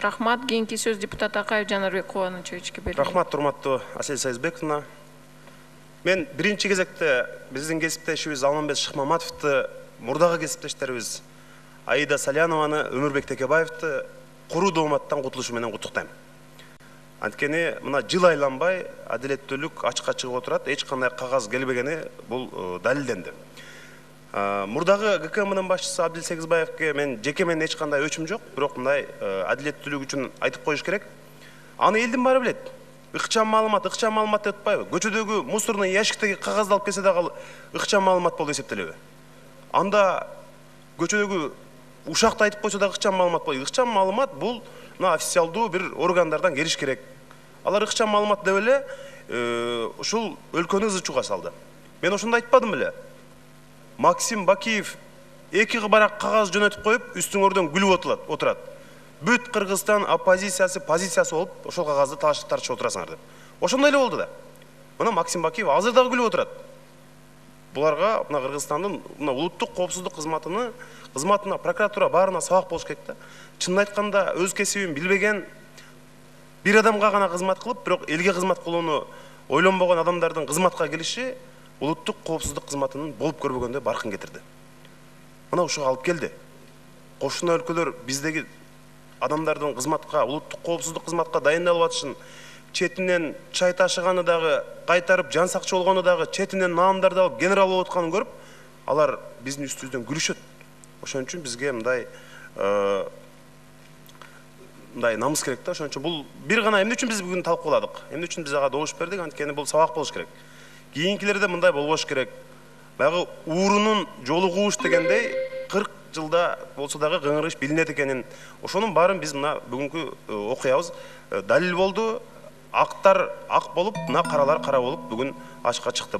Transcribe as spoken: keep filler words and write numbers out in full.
Рахмат. Кийинки сөз депутат Акаев Жанарбек Кубанычевичке берилет. Рахмат, урматтуу Асель Сайызбековна. Мен биринчи кезекте биздин кесиптешибиз Алмамбет Шыкмаматовду, мурдагы кесиптештерибиз Аида Салянованы, Өмүрбек Текебаевди куруу дооматтан кутулушу менен куттуктайм. Анткени мына жыл айланбай адилеттүүлүк ачыкка чыгып отурат, эч кандай кагаз келбегени бул далилденди. Мурдагы ГКМдын башчысы Абдил Сегизбаевге мен жеке менен эч кандай өчүм жок, бирок мындай адилеттүүлүк үчүн айтып коюш керек. Аны элдин баары билет. Ыкчам маалымат, ыкчам маалымат деп атпайбы? Көчөдөгү мусорный ящиктеги кагазды алып келсе дагы ыкчам маалымат болуп эсептелеби? Анда көчөдөгү ушакты айтып койсо да ыкчам маалымат болот. Ыкчам маалымат бул мына официалдуу бир органдардан келиш керек. Алар ыкчам маалымат деп эле ушул өлкөнү ызы-чууга салды. Мен ошондо айтпадым беле? Максим Бакиев эки барак кагаз жөнөтүп коюп, үстүңөрдөн күлүп отурат. Бүт Кыргызстан оппозициясы, позициясы болуп, ошол кагазды тартышып отурасыңар деп. Ошондой эле болду да. Мына Максим Бакиев азыр дагы күлүп отурат. Буларга мына Кыргызстандын мына улуттук коопсуздук кызматыны, кызматына, прокуратура баарына сабак болуш керек да. Чынын айтканда, өз кесибин билбеген бир адамга гана кызмат кылып, бирок элге кызмат кылууну ойлонбогон адамдардын кызматка келиши улуттук коопсуздук кызматынын болуп көрбөгөндөй баркын кетирди. Мына ушуга алып келди. Кошуна өлкөлөр биздеги адамдардын кызматка, улуттук коопсуздук кызматка дайындалып атышын, четинен чай ташыганы дагы, кайтарып жан сакчы болгону дагы, четинен наамдарды алып генерал болуп атканын көрүп, алар биздин үстүбүздөн күлүшөт. Ошон үчүн бизге мындай мындай намыс керек да. Ошон үчүн бул бир гана эмне үчүн биз бүгүн талкууладык? Эмне үчүн биз ага добуш бердик? Анткени бул сабак болуш керек. Кийинкилерде мындай болбош керек. Баягы уурунун жолу кууш дегендей кырк жылда болсо дагы кыңырыш билинет экенин, ошонун баарын биз мына бүгүнкү окуябыз далил болду. Актар ак болуп, мына каралар кара болуп бүгүн ачыкка чыкты.